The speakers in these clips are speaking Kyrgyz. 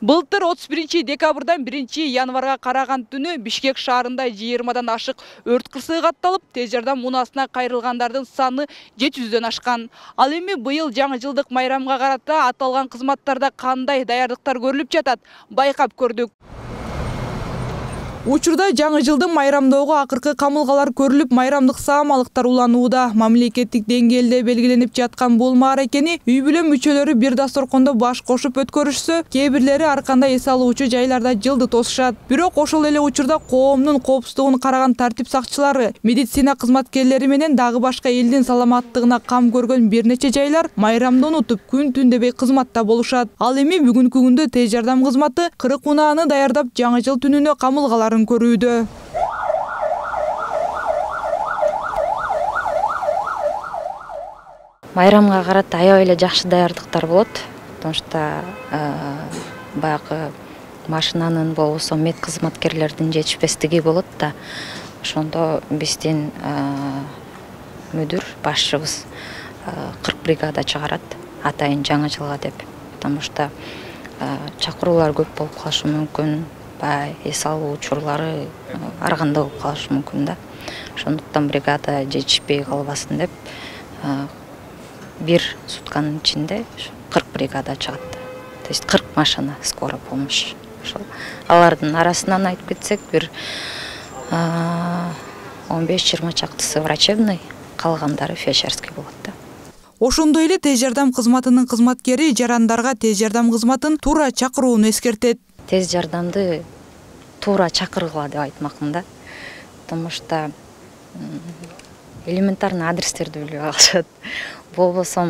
Былтыр 31 декабрдан 1 январга караган түнү Бишкек шаарында 20-дан ашык өрт кырсыгы катталып, тез жардам муунасына кайрылгандардын саны 700дөн ашкан. Ал эми быйыл жаңы жылдык майрамга карата аталган кызматтарда кандай даярдыктар көрүлүп жатат, байкап көрдүк. Учурда жаңы жылды майрамдоого акыркы камылгалар көрүлүп, майрамдык саамалыктар уланууда. Мамлекеттик деңгээлде белгиленип жаткан бул мааракени үй бүлө мүчөлөрү бир дасторкондо баш кошуп өткөрүшсө, кээ бирлери ар кандай эс алуучу жайларда жылды тосушат. Бирок ошол эле учурда коомдун коопсуздугун караган тартип сакчылары, медицина кызматкерлери менен дагы башка элдин саламаттыгына кам көргөн бир нече жайлар майрамды унутуп, күн түн дебей кызматта болушат. Ал эми бүгүнкү күндө тез жардам кызматы 40 унааны даярдап, жаңы жыл түнүнө камылгалар көрүүдө. Майрамга карата аябай эле жакшы даярдыктар болот, потому что баягы машинанын болбосо мед кызматкерлердин жетишпестиги болот да. Ошондо биздин мүдүр башчыбыз 40 бригада чыгарат атайын жаңы жылга деп, потому что чакыруулар көп болуп калышы мүмкүн. Эс алуу учурлары ар кандай болуп калышы мүмкүн да. Ошондуктан бригада жетишпей калбасын деп бир сутканын ичинде 40 бригада чыгат. То есть 40 машина скорой помощь. Ошол алардын арасынан айтып кетсек, бир 15-20 чактысы врачебный, калгандары фельдшерский болот да. Ошондой эле тез жардам кызматынын кызматкери жарандарга тез жардам кызматын туура чакырууну эскертет. Тез жардамды туура чакыргыла деп айтмакмын да. Потому что элементарный адрестерди билбей калышат. Болбосо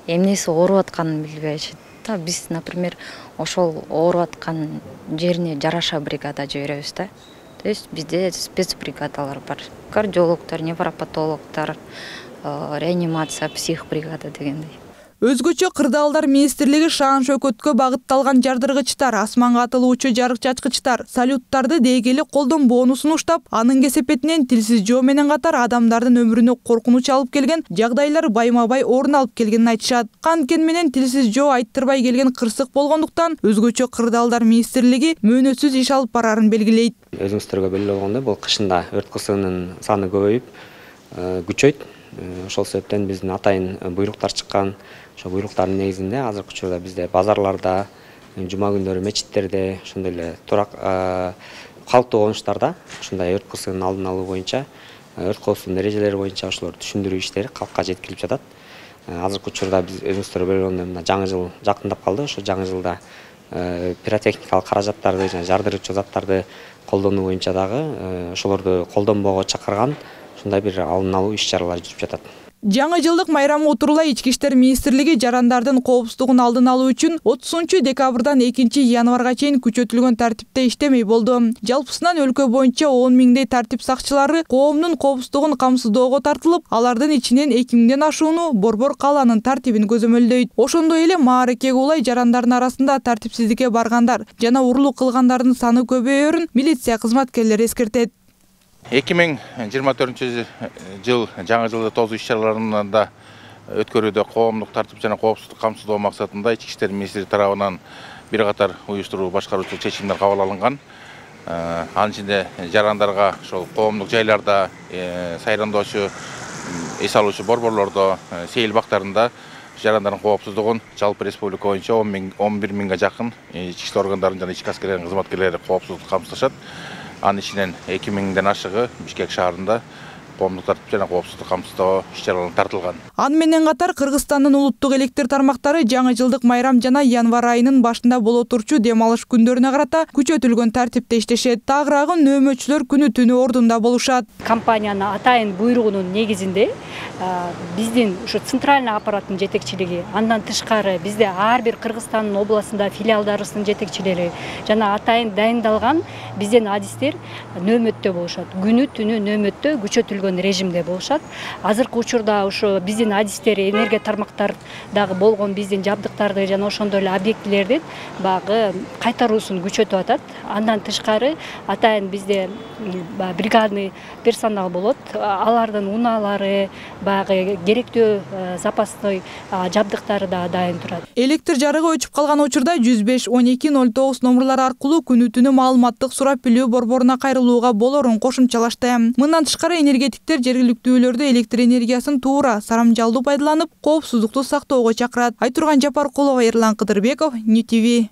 эмнеси ооруп атканын билбейшит. Биз, например, ошол ооруп аткан жерине жараша бригада жиберебиз да. То есть бизде спецбригадалар бар. Кардиологдор, невропатологдор, реанимация, псих бригада дегендей. Өзгөчө Кырдаалдар министрлиги шаан шөкөткө багытталган жардыргычтар, асманга атылуучу жарык чачкычтар, салюттарды дегели колдонбоону сунуштап, анын кесепетинен тилсиз жоо менен катар адамдардын өмүрүнө коркунуч алып келген жагдайлар байма-бай орун алып келгенин айтышат. Канткени менен тилсиз жоо айттырбай келген кырсык болгондуктан, өзгөчө Кырдаалдар министрлиги мөөнөтсүз иш алып барарын белгилейт. Өзүңүздөргө белгилүү болгондой, бул кышында өрт кырсыгынын саны көбөйүп, күчөйт. Ошол себептен биздин атайын буйруктар чыккан. Ошо буйруктардын негизинде азыркы учурда бизде базарларда, жума күндөрү мечиттерде, ошондой эле турак калктуу конуштарда ушундай өрт кырсыгынын алдын алуу боюнча, өрт коопсуздук эрежелери боюнча ошолорду түшүндүрүү иштери калкка жеткирип жатат. Азыркы учурда биз өзүңүздөр белгилүү мына жаңы жыл жакындап калды. Ошо жаңы жылда пиротехникалык каражаттарды жана жардыруучу заттарды колдонуу боюнча дагы ошолорду колдонбоого чакырган ушундай бир алдын алуу иш-чаралар жүрүп жатат. Жаңы жылдык майрамга отурулай Ички иштер министрлиги жарандардын коопсуздугун алдын алуу үчүн 30 декабрдан 2 январга чейин күчөтүлгөн тартипте иштемей болду. Жалпысынан өлкө боюнча 10 миңдей тартип сакчылары коомдун коопсуздугун камсыздоого тартылып, алардын ичинен 2 миңден ашууну Борбор калаанын тартибин көзөмөлдөйт. Ошондой эле мааракеге улай жарандардын арасында тартипсиздикке баргандар жана урурлук кылгандардын саны көбөйөрүн милиция кызматкерлери эскертет. 2024 жыл жаңы жылды тосуу иш-чараларында өткөрүүдө коомдук тартип жана коопсуздук камсыздоо максатында Ички иштер министрлиги тарабынан бир катар уюштуруу башкаруучу чечимдер кабыл алынган. Анын ичинде жарандарга ошол коомдук жайларда сайрандоочу, эс алуучу борборлордо, сейил бактарында жарандардын коопсуздугун жалпы республика боюнча 11 миңге жакын ички иштер органдарынын жана ички аскерлердин кызматкерлери коопсуздукту камсыздашат. Анын ичинен 2 миңден ашыгы Бишкек шаарында коомдук тартип жана коопсуздук камсыздоо иш-чараларына тартылган. Аны менен катар Кыргызстандын улуттук электр тармактары жаңы жылдык майрам жана январь айынын башында боло турчу дем алыш күндөрүнө карата күчөтүлгөн тартипте иштешет. Тагыраагы нөөмөчүлөр күнү түнү ордунда болушат. Компаниянын атайын буйругунун негизинде биздин ушу центральный аппараттын жетекчилиги, андан тышкары бизде ар бир Кыргызстандын областында филиалдарыбыздын жетекчилери жана атайын дайындалган биздин адистер нөөмөттө болушат. Күнү түнү нөөмөттө күчөтүлгөн күчөтүлгөн режимде болушат. Азыркы учурда ошо биздин адистер, энергия тармактардагы болгон биздин жабдыктарды жана ошондой эле объектилердин багы кайтаруусун күчөтүп атат. Андан тышкары атайын бизде бригадный персонал болот. Алардын унаалары, багы керектүү запасный жабдыктары да дайын турат. Электр жарыгы өчүп калган учурда 105 12 09 номурлары аркылуу күнү түнү маалыматтык сурап билүү борборуна кайрылууга болорун кошумчалашты. Мындан тышкары энергетиктер жергиликтүүлөрдү электр энергиясын туура, сарамжалдуу пайдаланып, коопсуздукту сактоого чакырат. Айтурган Жапаркулова, Ерлан Кыдырбеков, НТВ.